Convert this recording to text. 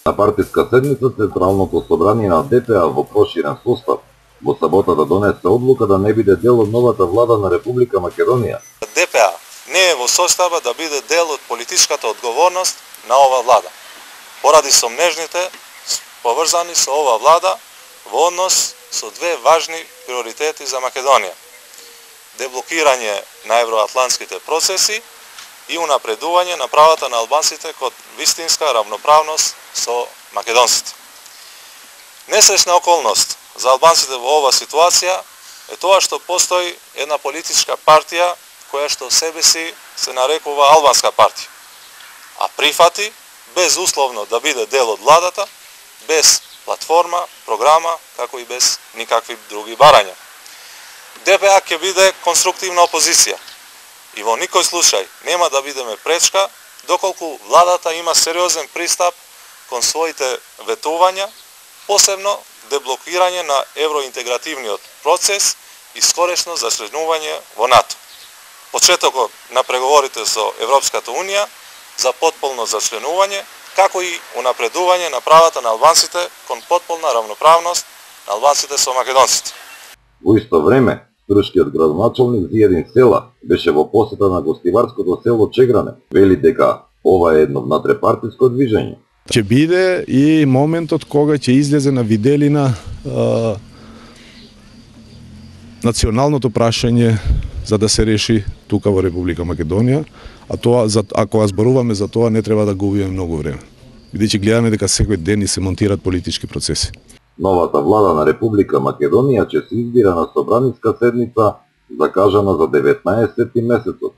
На партиска седница Централното собрание на ДПА во проширен состав во саботата донесе одлука да не биде дел од новата влада на Република Македонија. ДПА не е во состојба да биде дел од политичката одговорност на ова влада, поради сомнежните поврзани со ова влада во однос со две важни приоритети за Македонија: деблокирање на евроатлантските процеси и унапредување на правата на албанците кон вистинска равноправност со македонците. Несреќна околност за албанците во оваа ситуација е тоа што постои една политичка партија која што себе си се нарекува Албанска партија, а прифати безусловно да биде дел од владата, без платформа, програма, како и без никакви други барања. ДПА ќе биде конструктивна опозиција и во никој случај нема да бидеме пречка доколку владата има сериозен пристап кон своите ветувања, посебно деблокирање на евроинтегративниот процес и скорешно зачленување во НАТО. Почетокот на преговорите со Европската Унија за потполно зачленување, како и унапредување на правата на албанците кон потполна равноправност на албанците со македонците. Во исто време, турскиот градоначалник Зиједин Села беше во посета на гостиварското село Чегране. Вели дека ова е едно внатре-партиско движење. Ќе биде и моментот кога ќе излезе на виделина националното прашање за да се реши тука во Република Македонија, а тоа, ако зборуваме за тоа, не треба да губиме многу време. Бидејќи гледаме дека секој ден и се монтираат политички процеси. Новата влада на Република Македонија ќе се избира на собраниска седница закажана за 19 месецот.